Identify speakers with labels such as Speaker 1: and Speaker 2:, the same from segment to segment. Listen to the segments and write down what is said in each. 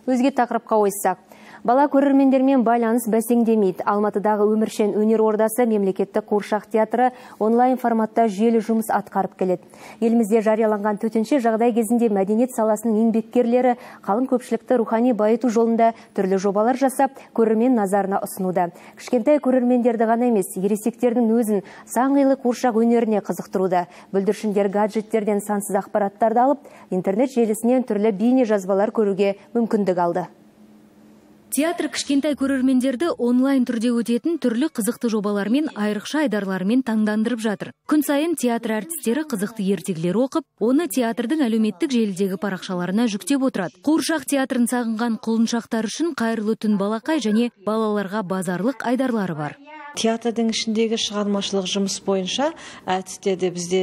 Speaker 1: Өзге тақырыпқа ойыссақ. Бала көрермендермен байланыс бәсеңдемейді. Алматыдағы өміршең өнер ордасы мемлекеттік қуыршақ театры онлайн форматта жүйелі жұмыс атқарып келеді. Елімізде жарияланған төтенше жағдай кезінде мәдениет саласының еңбеккерлері қалың көпшілікті рухани байыту жолында түрлі жобалар жасап, көрермен назарына ұсынуда. Кішкентай көрермендерді ғана емес, ересектердің өзін сан қилы қуыршақ өнеріне қызықтыруда. Бүлдіршіндер гаджеттерден сансыз ақпараттарды алып, интернет желісінен түрлі бейне жазбалар көруге мүмкіндік алды.
Speaker 2: Театр кішкентай көрермендерді онлайн түрде өтетін түрлі қызықты жобалармен, айрықша айдарлармен таңдандырып жатыр. Күн сайын театр әртістері қызықты ертегілер оқып, оны театрдың әлеуметтік желідегі парақшаларына жүктеп отырады. Қуыршақ театрын сағынған құлыншақтар үшін қайырлы түн балақай және балаларға базарлық айдарлары бар.
Speaker 3: Театрдың ішіндегі шығармашылық жұмыс бойынша әдістерде бізде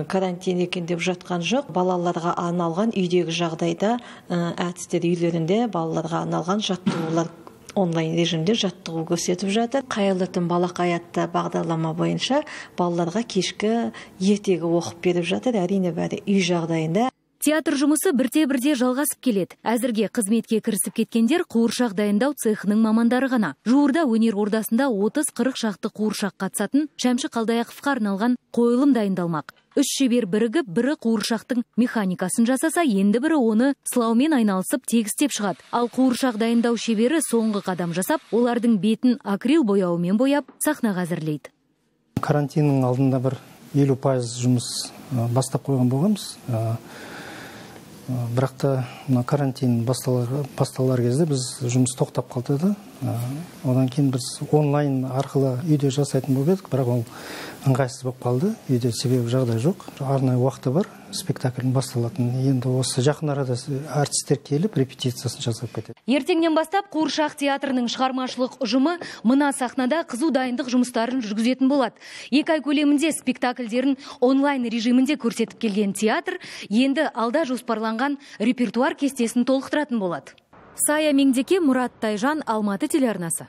Speaker 3: карантин екен деп жатқан жоқ. Балаларға арналған үйдегі жағдайда әдістер үйлерінде балаларға арналған жаттығулар онлайн режимде жаттығу көрсетіп жатыр. Қайырлы түн балақай атты бағдарлама бойынша балаларға кешкі ертегі оқып беріп жатыр. Әрине бәрі үй жағдайында.
Speaker 2: Театр жұмысы бірте-бірте жалғасып келеді. Әзірге қызметке кірісіп кеткендер қуыршақ дайындау цехының мамандары ғана. Жуырда өнер ордасында 30-40 шақты қуыршақ қатысатын Шәмші Қалдаяқовқа арналған қойылым дайындалмақ. 3 шебер бірігіп, бірі қуыршақтың механикасын жасаса, енді бірі оны сылаумен айналысып тегістеп шығады. Ал қуыршақ дайындау шебері соңғы қадам жасап, олардың бетін акрил бояуымен бояп, сахнаға әзірлейді.
Speaker 4: Карантиннің алдында бір 50% жұмыс бастап қойған болғанбыз. Бірақ та карантин басталар кезде біз жұмыс тоқтап қалды да. Одан кейін біз онлайн арқылы үйде жасайтын болып едік, бірақ ол ыңғайсыз болып қалды. Үйде себебі жағдай жоқ. Арнайы уақыты бар спектакльдің басталатын. Енді осы жақын арада артистер келіп репетициясын жасап кетеді.
Speaker 2: Ертеңнен бастап қуыршақ театрының шығармашылық ұжымы мына сахнада қызу дайындық жұмыстарын жүргізетін болады. 2 ай көлемінде спектакльдерін онлайн режимінде көрсетіп келген театр енді алда жоспарланған репертуар кестесін толықтыратын болады. Сая Меңдеке, Мұрат Тайжан, Алматы телеарнасы.